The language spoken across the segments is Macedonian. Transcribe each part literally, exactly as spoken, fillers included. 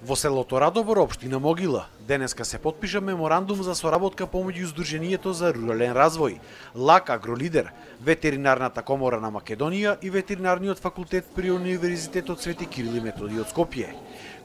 Во селото Радобор, општина Могила, денеска се потпиша меморандум за соработка помеѓу Сдруженијето за рурален развој, ЛАК Агролидер, Ветеринарната комора на Македонија и Ветеринарниот факултет при Универзитетот Свети Кирил и Методи од Скопје,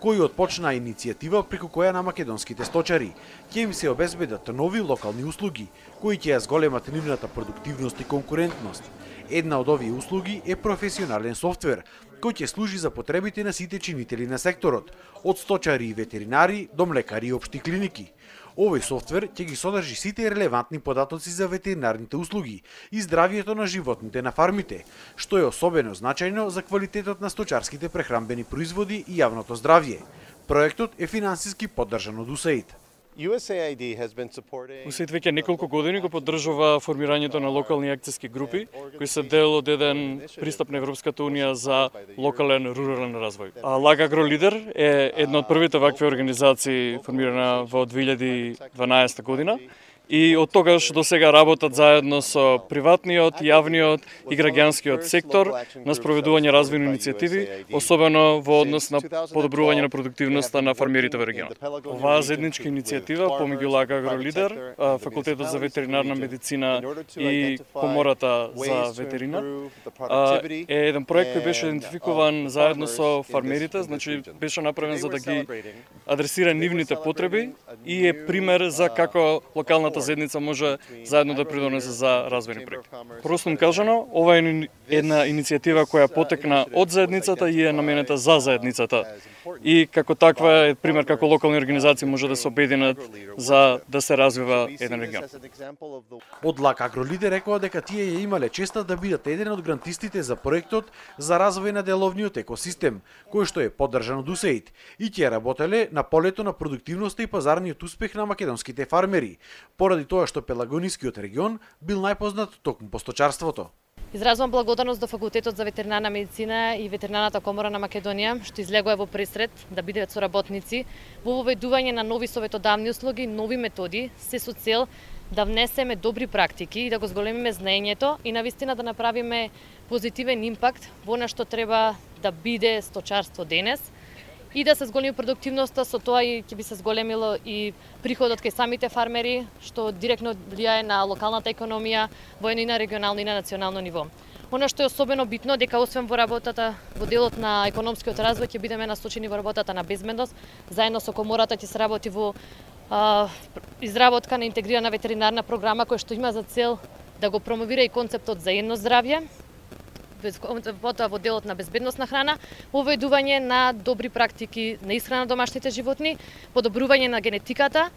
кој отпочна иницијатива преку која на македонските сточари ќе им се обезбедат нови локални услуги, кои ќе ја зголемат нивната продуктивност и конкурентност. Една од овие услуги е професионален софтвер, кој ќе служи за потребите на сите чинители на секторот, од сточари и ветеринари до млекари и општи клиники. Овој софтвер ќе ги содржи сите релевантни податоци за ветеринарните услуги и здравието на животните на фармите, што е особено значајно за квалитетот на сточарските прехранбени производи и јавното здравје. Проектот е финансиски поддржан од УСАИД. УСАИД веќе неколку години го поддржува формирањето на локални акцијски групи, кои се дел од еден пристап на Европската унија за локален рурален развој. А ЛАК Агролидер е една од првите вакви организации формирана во две илјади и дванаесета година. И од тогаш до сега работат заедно со приватниот, јавниот и граѓанскиот сектор на спроведување развојни иницијативи, особено во однос на подобрување на продуктивноста на фармерите во регионот. Оваа заедничка иницијатива помеѓу ЛАК Агролидер, Факултетот за ветеринарна медицина и Комората за ветерина е еден проект кој беше идентификуван заедно со фармерите, значи беше направен за да ги адресира нивните потреби и е пример за како локалната заедница може заедно да придонесе за развојни проекти. Простом кажано, ова е една иницијатива која потекна од заедницата и е наменета за заедницата. И како таква е пример како локални организации може да се обединат за да се развива еден регион. Од ЛАК Агролидер рекоа дека тие ја имале честа да бидат еден од грантистите за проектот за развој на деловниот екосистем, кој што е поддржан од УСАИД, и ќе работеле на полето на продуктивноста и пазарниот успех на македонските фармери, поради тоа што Пелагонискиот регион бил најпознат токму по сточарството. Изразувам благодарност до Факултетот за ветеринарна медицина и Ветеринарната комора на Македонија, што излегува во пресред да бидат соработници во воведување на нови советодавни услуги, нови методи, се со цел да внесеме добри практики и да го зголемиме знаењето и навистина да направиме позитивен импакт во она што треба да биде сточарство денес и да се зголеми продуктивноста, со тоа и ќе би се зголемило и приходот кај самите фармери, што директно влијае на локалната економија во едно и на регионално и на национално ниво. Оно што е особено битно дека освен во работата во делот на економскиот развој ќе бидеме насочени во работата на безбедност, заедно со комората ќе се работи во а, изработка на интегрирана ветеринарна програма која што има за цел да го промовира и концептот за едно здравје, потоа во делот на безбедност на храна, воведување на добри практики на исхрана на домашните животни, подобрување на генетиката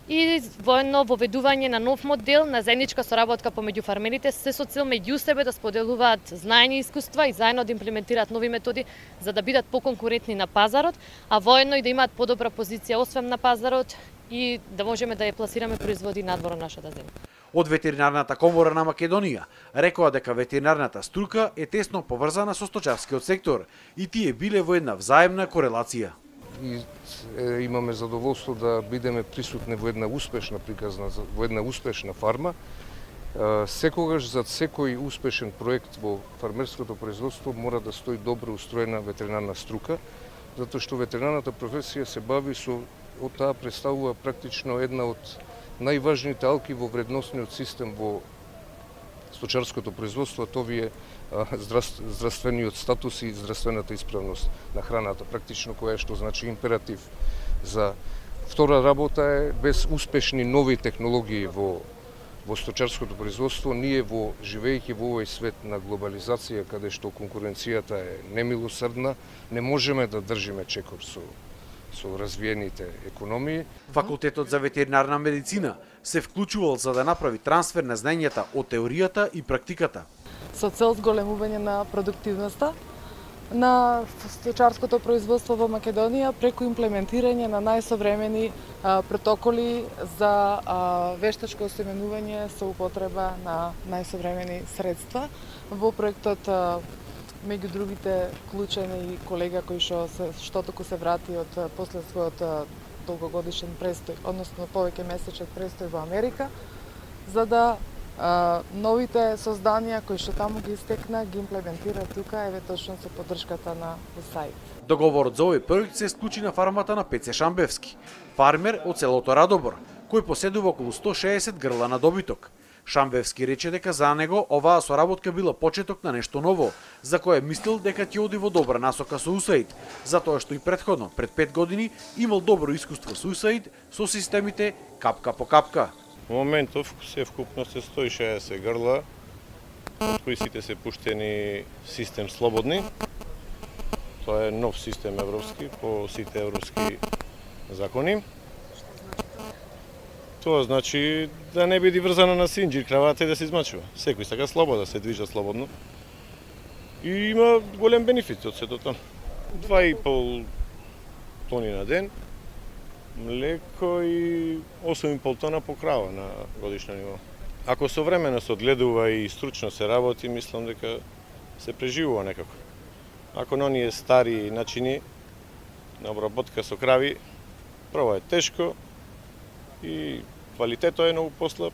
и воедно воведување на нов модел на заедничка соработка помеѓу фармерите, се со цел меѓу себе да споделуваат знаење и искуства и заедно да имплементираат нови методи за да бидат поконкурентни на пазарот, а воедно и да имаат подобра позиција освен на пазарот и да можеме да ја пласираме производи надвор од нашата земја. Од Ветеринарната комора на Македонија рекоа дека ветеринарната струка е тесно поврзана со сточарскиот сектор и тие биле во една взаемна корелација. И е, имаме задоволство да бидеме присутни во една успешна приказна, во една успешна фарма. Е, секогаш зад секој успешен проект во фармерското производство мора да стои добро устроена ветеринарна струка, затоа што ветеринарната професија се бави со, од таа представува практично една од најважните алки во вредносниот систем во сточарското производство, тоа е здравствениот статус и здравствената исправност на храната, практично која што значи императив за втора работа е без успешни нови технологии во во сточарското производство, ние во живеејќи во овој свет на глобализација каде што конкуренцијата е немилосрдна, не можеме да држиме чекор со со развиените економии. Факултетот за ветеринарна медицина се вклучувал за да направи трансфер на знаењата од теоријата и практиката. Со цел зголемување на продуктивноста на сточарското производство во Македонија преку имплементирање на најсовремени а, протоколи за а, вештачко осеменување со употреба на најсовремени средства. Во проектот а, меѓу другите вклучен и колега кој што се што току се врати од после својот долгогодишен престој, односно повеќе месечен престој во Америка, за да новите созданија кои што таму ги истекна ги имплементира тука, еве точно со поддршката на УСАИД. Договорот за овој проект се склучи на фармата на Пеце Шамбевски, фармер од селото Радобор, кој поседува околу сто шеесет грла на добиток. Шамбевски рече дека за него оваа соработка била почеток на нешто ново, за кое мислил дека ќе оди во добра насока со УСАИД, затоа што и претходно, пред пет години, имал добро искуство со УСАИД со системите капка по капка. Во моментов се вкупно се сто и шеесет грла, од кои сите се пуштени систем слободни. Тоа е нов систем европски по сите европски закони. Тоа значи да не биде врзана на синџир кравата и да се измачува. Секој сака слобода, се движа слободно. И има голем бенефит од сето тоа. Два и пол тони на ден, млеко и осум и пол тона по крава на годишно ниво. Ако современо се одгледува и стручно се работи, мислам дека се преживува некако. Ако на оние стари начини на обработка со крави, прво е тешко и квалитетот е многу послаб,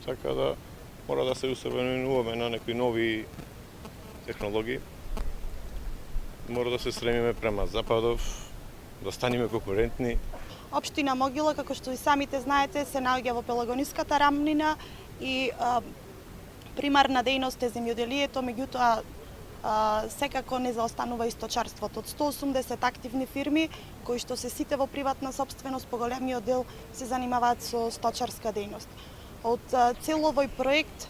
така да мора да се усовременуваме на некои нови технологии. Мора да се стремиме према западов, да станеме конкурентни. Општина Могила, како што и самите знаете, се наоѓа во Пелагониската рамнина и а, примарна дејност е земјоделието, меѓутоа а, секако не заостанува и сточарството. Од сто осумдесет активни фирми, кои што се сите во приватна собственост, поголемиот дел се занимаваат со сточарска дејност. Од а, цел овој проект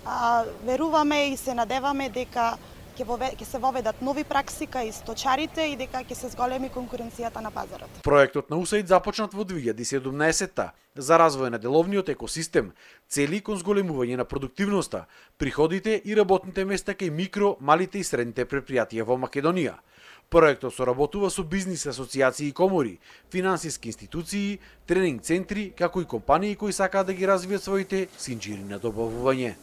а, веруваме и се надеваме дека ќе се воведат нови пракси кај сточарите и дека ќе се зголеми конкуренцијата на пазарот. Проектот на УСАИД започнат во две илјади и седумнаесетта за развој на деловниот екосистем, цели кон зголемување на продуктивноста, приходите и работните места кај микро, малите и средните предпријатија во Македонија. Проектот соработува со бизнис асоциации и комори, финансиски институции, тренинг центри, како и компании кои сакаат да ги развијат своите синџири на добавување.